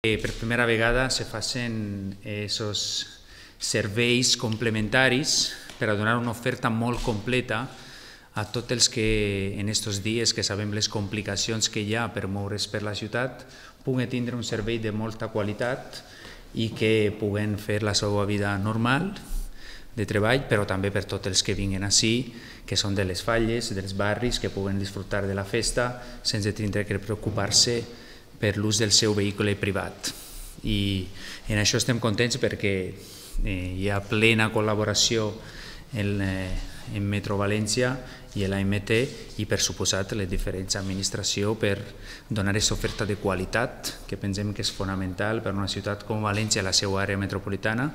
Per primera vegada se facin aquests serveis complementaris per a donar una oferta molt completa a tots els que en aquests dies que sabem les complicacions que hi ha per moure's per la ciutat puguen tindre un servei de molta qualitat i que puguen fer la seva vida normal de treball, però també per tots els que vinguin ací, que són de les falles, dels barris, que puguen disfrutar de la festa sense tindre que preocupar-se per l'ús del seu vehicle privat. I en això estem contents perquè hi ha plena col·laboració en Metro València i l'AMT i per suposat les diferents administracions per donar aquesta oferta de qualitat que pensem que és fonamental per a una ciutat com València, la seva àrea metropolitana.